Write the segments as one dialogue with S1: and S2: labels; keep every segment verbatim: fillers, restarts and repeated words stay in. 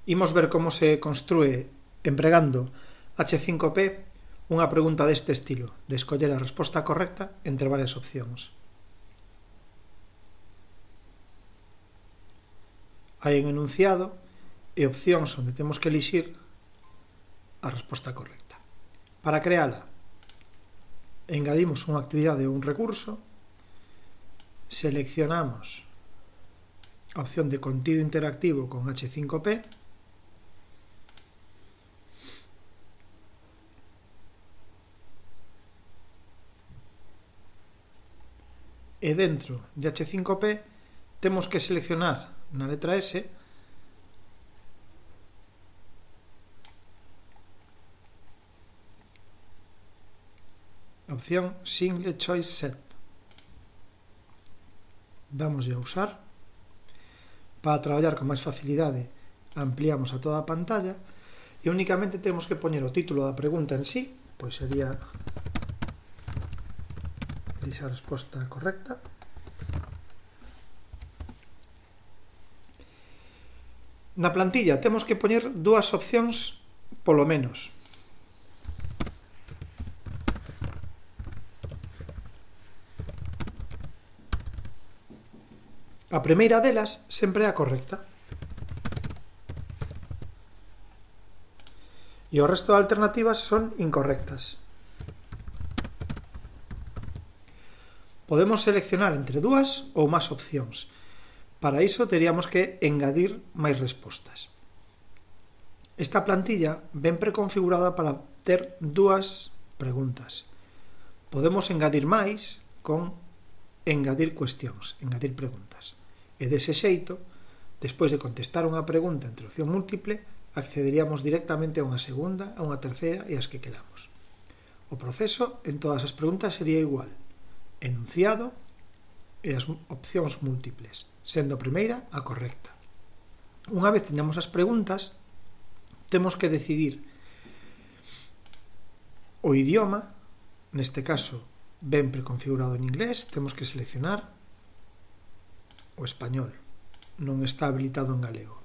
S1: Imos ver como se construe empregando hache cinco pe unha pregunta deste estilo, de escoller a resposta correcta entre varias opcións. Hai un enunciado e opcións onde temos que elixir a resposta correcta. Para creala, engadimos unha actividade ou un recurso, seleccionamos a opción de contido interactivo con hache cinco pe, e dentro de hache cinco pe temos que seleccionar na letra S a opción Single Choice Set. Dámoslle a usar. Para traballar con máis facilidade ampliamos a toda a pantalla e únicamente temos que poñer o título da pregunta en sí, pois sería a resposta correcta. Na plantilla temos que poñer dúas opcións polo menos. A primeira delas sempre é a correcta. E o resto de alternativas son incorrectas. Podemos seleccionar entre dúas ou máis opcións. Para iso teríamos que engadir máis respostas. Esta plantilla ven preconfigurada para ter dúas preguntas. Podemos engadir máis con engadir cuestións, engadir preguntas. E dese xeito, despois de contestar unha pregunta entre opción múltiple, accederíamos directamente a unha segunda, a unha terceira e as que queramos. O proceso en todas as preguntas sería igual. Enunciado e as opcións múltiples, sendo a primeira a correcta. Unha vez teñamos as preguntas, temos que decidir o idioma, neste caso ben preconfigurado en inglés, temos que seleccionar o español, non está habilitado en galego.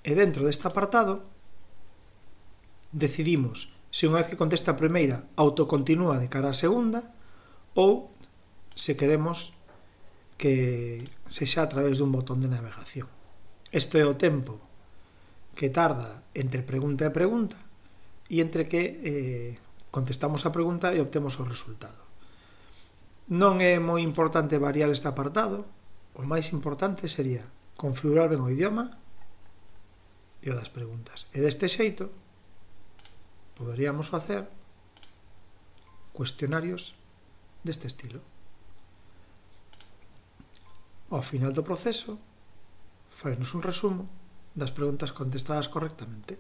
S1: E dentro deste apartado decidimos se unha vez que contesta a primeira autocontinúa de cara á segunda ou se queremos que sexa a través dun botón de navegación. Isto é o tempo que tarda entre pregunta e pregunta e entre que eh, contestamos a pregunta e obtemos o resultado. Non é moi importante variar este apartado, o máis importante sería configurar ben o idioma e o das preguntas. E deste xeito poderíamos facer cuestionarios deste estilo. Ao final do proceso, fainos un resumo das preguntas contestadas correctamente.